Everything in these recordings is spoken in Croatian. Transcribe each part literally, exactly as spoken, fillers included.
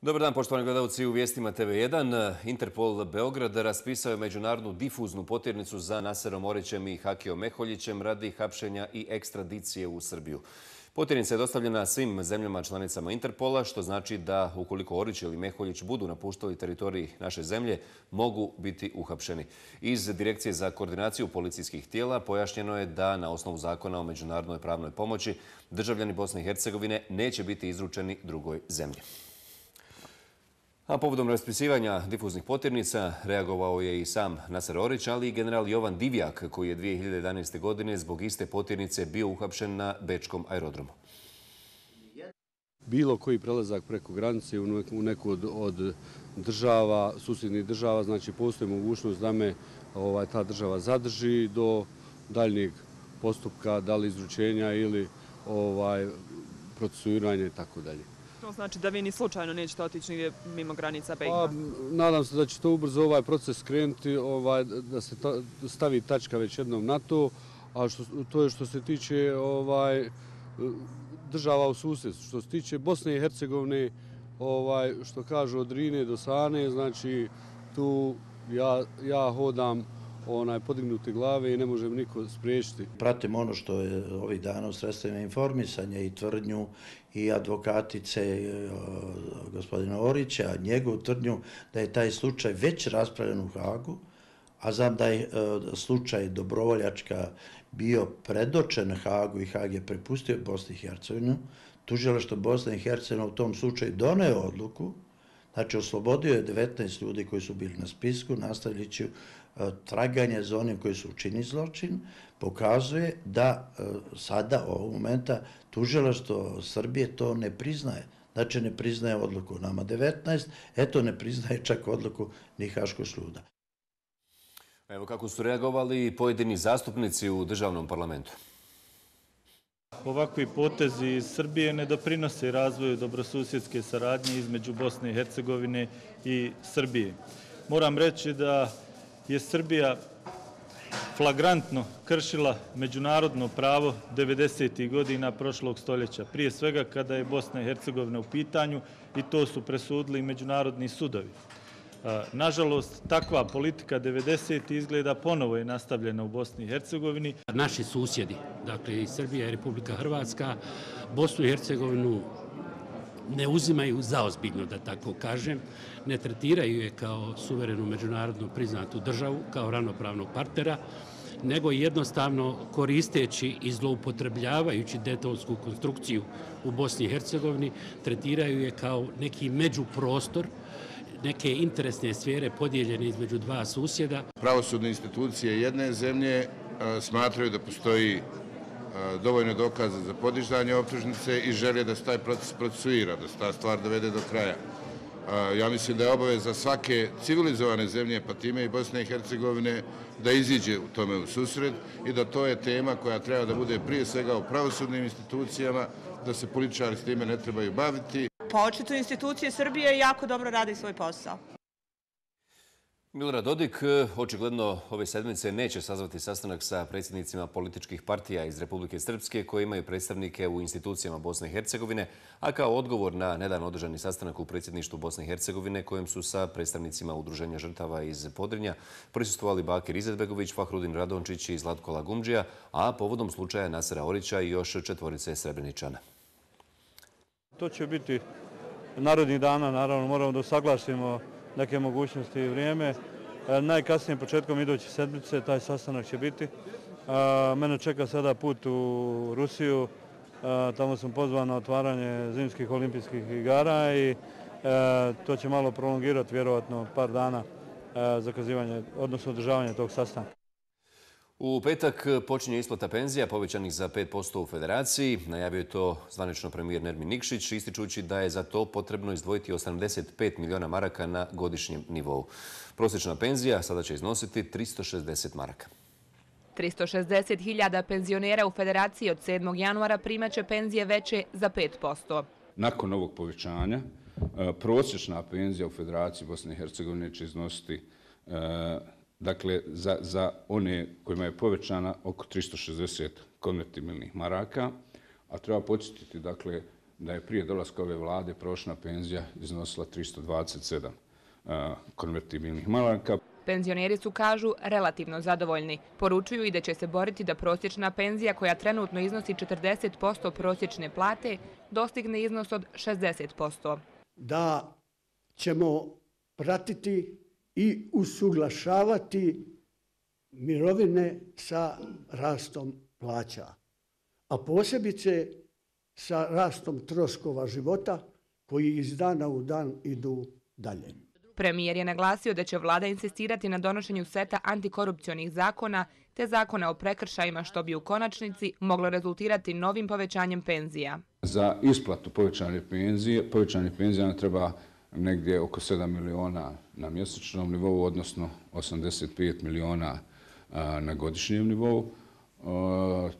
Dobar dan, poštovani gledalci, u vijestima T V jedan. Interpol Beograd raspisao je međunarodnu difuznu potirnicu za Naserom Orićem i Hakijom Meholjićem radi hapšenja i ekstradicije u Srbiju. Potirnica je dostavljena svim zemljama članicama Interpola, što znači da ukoliko Orić ili Meholjić budu napuštali teritorij naše zemlje, mogu biti uhapšeni. Iz Direkcije za koordinaciju policijskih tijela pojašnjeno je da na osnovu zakona o međunarodnoj pravnoj pomoći državljani Bosne i Hercegovine neće biti izručeni drugoj zemlji. A povodom raspisivanja difuznih potirnica reagovao je i sam Naser Orić, ali i general Jovan Divjak, koji je dvije hiljade jedanaeste. godine zbog iste potirnice bio uhapšen na bečkom aerodromu. Bilo koji prelazak preko granice u neku od, od država, susjednih država, znači postoji mogućnost da me ovaj, ta država zadrži do daljnjeg postupka, da li izručenja ili ovaj, procesuiranja i tako dalje. To znači da vi ni slučajno nećete otići nigdje mimo granica B iH? Pa, nadam se da će to ubrzo ovaj proces krenuti, ovaj, da se ta, stavi tačka već jednom na to, a što, to je što se tiče ovaj, država u susjedstvu. Što se tiče Bosne i Hercegovine, ovaj, što kažu od Drine do Sane, znači tu ja, ja hodam onaj podignuti glave i ne može niko spriječiti. Pratim ono što je ovih dana u sredstvima informisanja i tvrdnju i advokatice gospodina Orića, njegovu tvrdnju da je taj slučaj već raspravljen u Hagu, a znam da je slučaj Dobrovoljačka bio predočen Hagu i Hag je prepustio Bosni i Hercegovinu. Tužilaštvo Bosne i Hercegovine u tom slučaju doneo odluku, znači oslobodio je devetnaest ljudi koji su bili na spisku, nastavljajući traganje za onim koji su učinili zločin, pokazuje da sada, ovog momenta, tužilaštvo Srbije to ne priznaje. Znači ne priznaje odluku nama devetnaest, eto ne priznaje čak odluku ni Haškog suda. Evo kako su reagovali pojedini zastupnici u državnom parlamentu. Ovakvi potezi iz Srbije ne doprinose razvoju dobrosusjedske saradnje između Bosne i Hercegovine i Srbije. Moram reći da je Srbija flagrantno kršila međunarodno pravo devedesetih godina prošlog stoljeća. Prije svega kada je Bosna i Hercegovina u pitanju i to su presudili i međunarodni sudovi. Nažalost, takva politika devedesetih izgleda ponovo je nastavljena u Bosni i Hercegovini. Naši susjedi, dakle i Srbija i Republika Hrvatska, Bosnu i Hercegovinu ne uzimaju zaozbiljno, da tako kažem, ne tretiraju je kao suverenu međunarodno priznatu državu, kao ravnopravnog partnera, nego jednostavno koristeći i zloupotrebljavajući Daytonsku konstrukciju u Bosni i Hercegovini, tretiraju je kao neki međuprostor, neke interesne sfere podijeljene između dva susjeda. Pravosudne institucije jedne zemlje smatraju da postoji dovoljno dokaza za podižanje optužnice i žele da se taj proces procesuira, da se ta stvar dovede do kraja. Ja mislim da je obaveza svake civilizovane zemlje, pa time i Bosne i Hercegovine, da iziđe u tome u susret i da to je tema koja treba da bude prije svega u pravosudnim institucijama, da se političari s time ne trebaju baviti. Pa očito institucije Srbije jako dobro radi svoj posao. Milorad Dodik očigledno ove sedmice neće sazvati sastanak sa predsjednicima političkih partija iz Republike Srpske koji imaju predstavnike u institucijama Bosne i Hercegovine, a kao odgovor na nedavno održani sastanak u predsjedništvu Bosne i Hercegovine kojem su sa predstavnicima Udruženja žrtava iz Podrinja prisustvovali Bakir Izetbegović, Fahrudin Radončić i Zlatko Lagumdžija, a povodom slučaja Nasera Orića i još četvorice Srebreničana. To će biti narodnih dana, naravno moramo da usaglasimo neke mogućnosti i vrijeme. Najkasnije početkom iduće sedmice taj sastanak će biti. Mene čeka sada put u Rusiju. Tamo sam pozvan na otvaranje zimskih olimpijskih igara i to će malo prolongirati vjerovatno par dana zakazivanje, odnosno održavanje tog sastanka. U petak počinje isplata penzija povećanih za pet posto u Federaciji. Najavio je to zvanično premijer Nermin Nikšić, ističući da je za to potrebno izdvojiti osamdeset pet miliona maraka na godišnjem nivou. Prosječna penzija sada će iznositi tristo šezdeset maraka. tristo šezdeset hiljada penzionera u Federaciji od sedmog januara primaće penzije veće za pet posto. Nakon ovog povećanja, prosječna penzija u Federaciji Bosne i Hercegovine će iznositi dakle, za, za one kojima je povećana oko tristo šezdeset konvertibilnih maraka, a treba podsjetiti dakle, da je prije dolaska ove vlade prosječna penzija iznosila tristo dvadeset sedam konvertibilnih maraka. Penzioneri su, kažu, relativno zadovoljni. Poručuju i da će se boriti da prosječna penzija, koja trenutno iznosi četrdeset posto prosječne plate, dostigne iznos od šezdeset posto. Da ćemo pratiti i usuglašavati mirovine sa rastom plaća, a posebice sa rastom troškova života koji iz dana u dan idu dalje. Premijer je naglasio da će vlada insistirati na donošenju seta antikorupcionih zakona te zakona o prekršajima, što bi u konačnici moglo rezultirati novim povećanjem penzija. Za isplatu povećanje penzije, povećanje penzija nam treba negdje oko sedam miliona na mjesečnom nivou, odnosno osamdeset pet miliona na godišnjem nivou.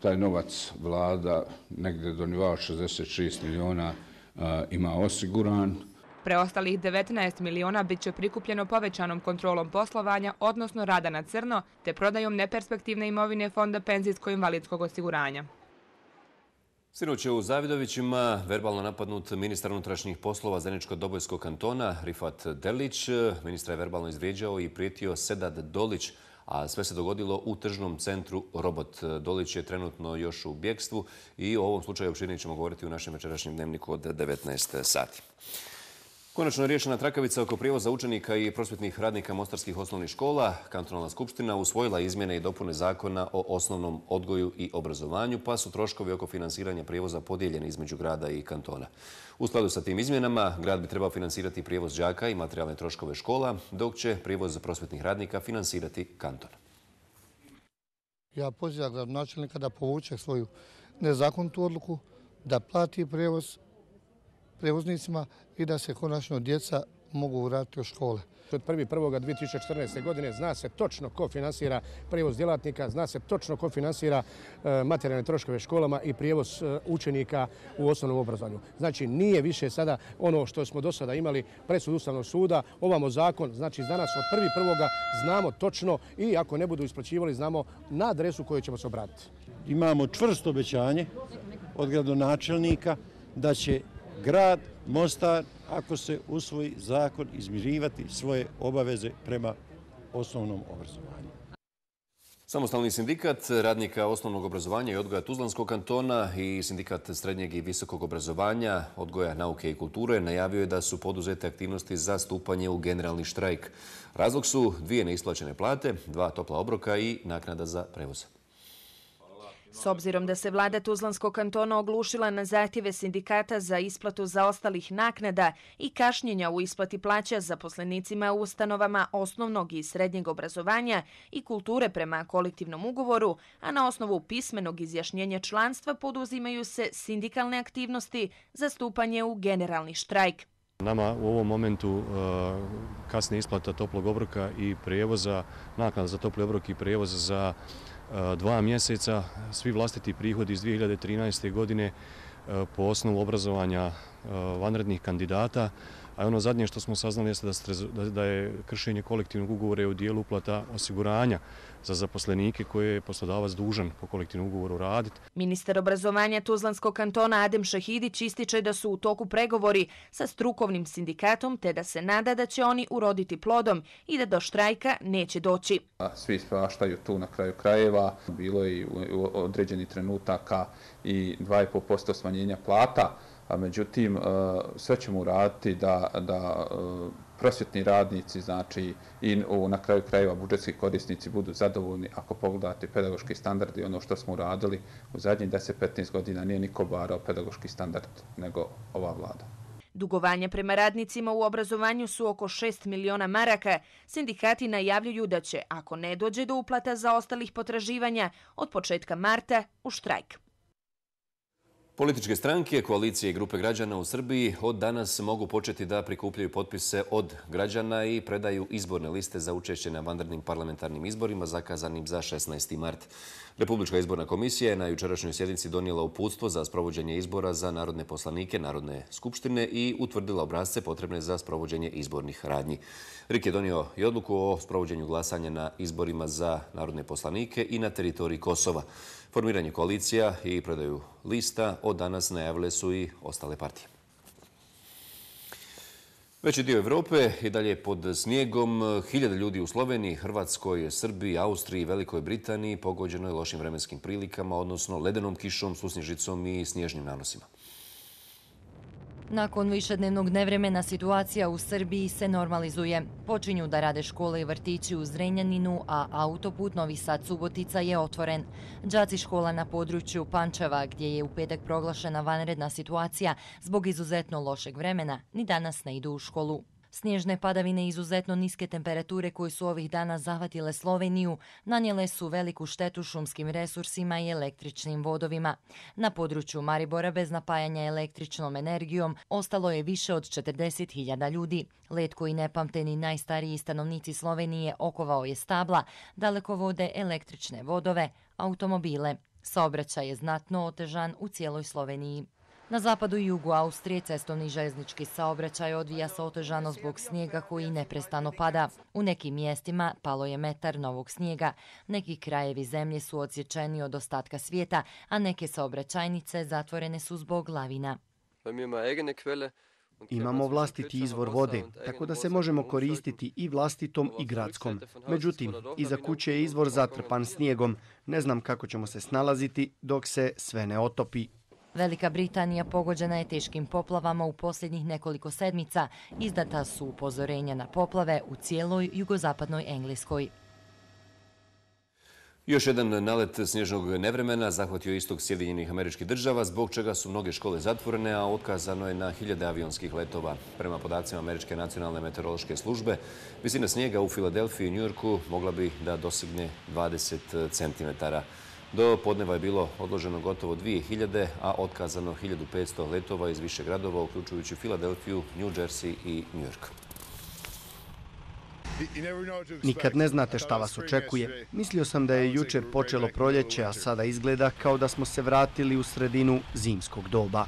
Taj novac vlada negdje do nivoa šezdeset šest miliona ima osiguran. Preostalih devetnaest miliona bit će prikupljeno povećanom kontrolom poslovanja, odnosno rada na crno, te prodajom neperspektivne imovine Fonda penzijsko-invalidskog osiguranja. Sinoć je u Zavidovićima verbalno napadnut ministar unutrašnjih poslova Zeničko-Dobojskog kantona Rifat Delić. Ministra je verbalno izvrijeđao i prijetio Sedad Dolić, a sve se dogodilo u tržnom centru Robot. Dolić je trenutno još u bjegstvu i o ovom slučaju opširnije ćemo govoriti u našem večerašnjem dnevniku od devetnaest sati. Konačno je riješena trakavica oko prijevoza učenika i prosvjetnih radnika mostarskih osnovnih škola. Kantonalna skupština usvojila izmjene i dopune zakona o osnovnom odgoju i obrazovanju, pa su troškovi oko finansiranja prijevoza podijeljeni između grada i kantona. U skladu sa tim izmjenama, grad bi trebao finansirati prijevoz đaka i materijalne troškove škola, dok će prijevoz prosvjetnih radnika finansirati kanton. Ja pozivam gradonačelnika da povuče svoju nezakonitu odluku, da plati prijevoz prevoznicima i da se konačno djeca mogu vratiti u škole. Od prvog prvog dvije tisuće četrnaeste. godine zna se točno ko finansira prijevoz djelatnika, zna se točno ko finansira materijalne troškove školama i prijevoz učenika u osnovnom obrazovanju. Znači nije više sada ono što smo do sada imali presud Ustavnog suda, ovamo zakon, znači danas od prvog prvog znamo točno i ako ne budu isplaćivali znamo na adresu koju ćemo se obratiti. Imamo čvrsto obećanje od gradonačelnika da će grad Mostar, ako se usvoji zakon, izmirivati svoje obaveze prema osnovnom obrazovanju. Samostalni sindikat radnika osnovnog obrazovanja i odgoja Tuzlanskog kantona i sindikat srednjeg i visokog obrazovanja, odgoja, nauke i kulture najavio je da su poduzete aktivnosti za stupanje u generalni štrajk. Razlog su dvije neisplaćene plate, dva topla obroka i naknada za prevoz. S obzirom da se vlada Tuzlanskog kantona oglušila na zahtjeve sindikata za isplatu zaostalih naknada i kašnjenja u isplati plaća zaposlenicima u ustanovama osnovnog i srednjeg obrazovanja i kulture prema kolektivnom ugovoru, a na osnovu pismenog izjašnjenja članstva poduzimaju se sindikalne aktivnosti za stupanje u generalni štrajk. Nama u ovom momentu kasnije isplata toplog obroka i prijevoza, naknada za topli obrok i prijevoz za dva mjeseca, svi vlastiti prihodi iz dvije hiljade trinaeste. godine po osnovu obrazovanja vanrednih kandidata, a ono zadnje što smo saznali jeste da je kršenje kolektivnog ugovora u dijelu uplata osiguranja za zaposlenike koje je poslodavac dužan po kolektivnom ugovoru raditi. Ministar obrazovanja Tuzlanskog kantona Adem Šahidić ističe da su u toku pregovori sa strukovnim sindikatom te da se nada da će oni uroditi plodom i da do štrajka neće doći. Svi svaštaju tu na kraju krajeva. Bilo je u određenih trenutaka i dva i pol posto smanjenja plata, a međutim sve ćemo uraditi da, da prosvjetni radnici, znači i na kraju krajeva budžetski korisnici budu zadovoljni. Ako pogledate pedagoški standard i ono što smo uradili u zadnjih deset do petnaest godina, nije niko barao pedagoški standard nego ova vlada. Dugovanja prema radnicima u obrazovanju su oko šest miliona maraka. Sindikati najavljuju da će, ako ne dođe do uplata zaostalih potraživanja, od početka marta u štrajk. Političke stranke, koalicije i grupe građana u Srbiji od danas mogu početi da prikupljaju potpise od građana i predaju izborne liste za učešće na vanrednim parlamentarnim izborima zakazanim za šesnaesti mart. Republička izborna komisija je na jučerašnjoj sjednici donijela uputstvo za sprovođenje izbora za narodne poslanike Narodne skupštine i utvrdila obrasce potrebne za sprovođenje izbornih radnji. R I K je donio i odluku o sprovođenju glasanja na izborima za narodne poslanike i na teritoriji Kosova. Formiranje koalicija i predaju lista. Od danas najavile su i ostale partije. Veći dio Evrope i dalje pod snijegom. Hiljade ljudi u Sloveniji, Hrvatskoj, Srbiji, Austriji i Velikoj Britaniji pogođeno je lošim vremenskim prilikama, odnosno ledenom kišom, susnježicom i snježnim nanosima. Nakon višednevnog nevremena situacija u Srbiji se normalizuje. Počinju da rade škole i vrtići u Zrenjaninu, a autoput Novi Sad-Subotica je otvoren. Đaci škola na području Pančeva, gdje je u petak proglašena vanredna situacija zbog izuzetno lošeg vremena, ni danas ne idu u školu. Snježne padavine i izuzetno niske temperature koje su ovih dana zahvatile Sloveniju nanijele su veliku štetu šumskim resursima i električnim vodovima. Na području Maribora bez napajanja električnom energijom ostalo je više od četrdeset hiljada ljudi. Led koji nepamteni najstariji stanovnici Slovenije okovao je stabla, dalekovode, električne vodove, automobile. Saobraćaj je znatno otežan u cijeloj Sloveniji. Na zapadu i jugu Austrije cestovni i željeznički saobraćaj odvija se otežano zbog snijega koji neprestano pada. U nekim mjestima palo je metar novog snijega. Neki krajevi zemlje su odsječeni od ostatka svijeta, a neke saobraćajnice zatvorene su zbog lavina. Imamo vlastiti izvor vode, tako da se možemo koristiti i vlastitom i gradskom. Međutim, iza kuće je izvor zatrpan snijegom. Ne znam kako ćemo se snalaziti dok se sve ne otopi. Velika Britanija pogođena je teškim poplavama u posljednjih nekoliko sedmica. Izdata su upozorenja na poplave u cijeloj jugozapadnoj Engleskoj. Još jedan nalet snježnog nevremena zahvatio istok Sjedinjenih Američkih Država, zbog čega su mnoge škole zatvorene, a otkazano je na hiljade avionskih letova. Prema podacima Američke nacionalne meteorološke službe, visina snijega u Filadelfiji i Njujorku mogla bi da dosigne dvadeset centimetara. Do podneva je bilo odloženo gotovo dvije hiljade, a otkazano hiljadu petsto letova iz više gradova, uključujući Filadelfiju, New Jersey i New York. Nikad ne znate šta vas očekuje. Mislio sam da je jučer počelo proljeće, a sada izgleda kao da smo se vratili u sredinu zimskog doba.